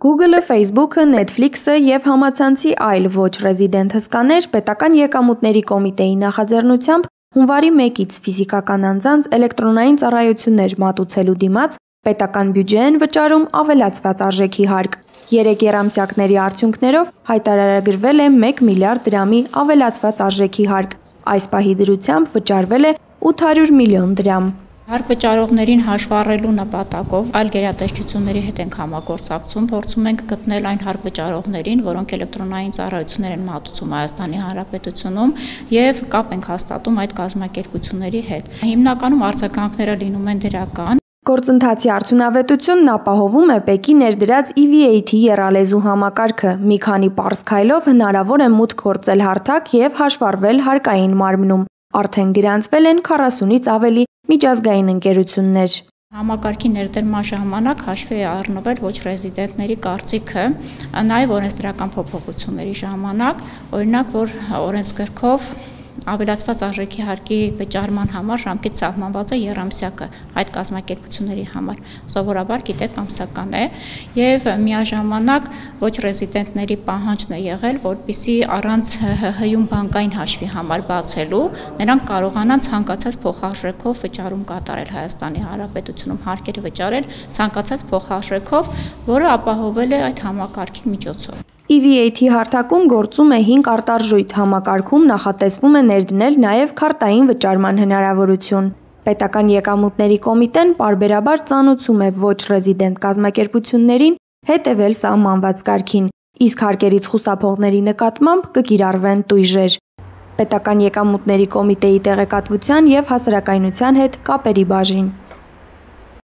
Google-ը, Facebook-ը, Netflix-ը և համացանցի այլ ոչ ռեզիդենտ հսկաներ պետական եկամուտների կոմիտեի նախաձեռնությամբ հունվարի 1-ից ֆիզիկական անձանց էլեկտրոնային ծառայություններ մատուցելու դիմաց պետական բյուջե են վճարում ավելացված արժեքի հարկ։ 3 եռամսյակների արդյունքներով հայտարարագրվել է 1 միլիարդ դրամի ավելացված արժեքի հարկ։ Այս պահի դրությամբ վճարվել է 800 միլիոն դրամ։ Հարկ վճարողներին հաշվառելու նպատակով այլ գերատեսչությունների հետ ենք համագործակցում, փորձում ենք գտնել այն հարկ վճարողներին, որոնք էլեկտրոնային ծառայություններ են մատուցում Հայաստանի Հանրապետությունում եւ կապ ենք հաստատում այդ կազմակերպությունների հետ։ Հիմնականում արձագանքները լինում են դրական։ Գործընթացի արդյունավետությունն ապահովում է ՊԵԿ-ի ներդրած EV8 եռալեզու համակարգը։ Մի քանի պարզ քայլով հնարավոր է մուտք գործել հարթակ եւ հաշվառվել հարկային մարմնում։ Արդեն գրանցվել են 40-ից ավելի միջազգային ընկերություններ։ Համակարգի ներդրման ժամանակ հաշվի է առնվել ոչ ռեզիդենտների կարծիքը, նաև օրենսդրական փոփոխությունների ժամանակ, օրինակ, որ օրենսգրքով ավելացված արժեքի հարկի վճարման համար ժամկետ սահմանված է եռամսյակը այդ կազմակերպությունների համար, սովորաբար գիտեք ամսական է, եւ միաժամանակ ոչ ռեզիդենտների պահանջն է եղել, որպեսզի առանց ՀՀ-ում բանկային հաշվի համար բացելու նրանք կարողանան ցանկացած փոխարժեքով վճարում կատարել Հայաստանի Հանրապետությունում, հարկերը վճարել ցանկացած փոխարժեքով, որը ապահովել է այդ համակարգի միջոցով։ EV8 հարթակում գործում է 5 արտարժույթ, համակարգում նախատեսվում է ներդնել նաև քարտային վճարման հնարավորություն։ Պետական եկամուտների կոմիտեն պարբերաբար ծանոթում է ոչ ռեզիդենտ կազմակերպություններին հետևել սահմանված կարգին, իսկ հարկերից խուսափողների նկատմամբ կկիրառվեն տույժեր։ Պետական եկամուտների կոմիտեի տեղեկատվության և հասարակայնության հետ կապերի բաժին։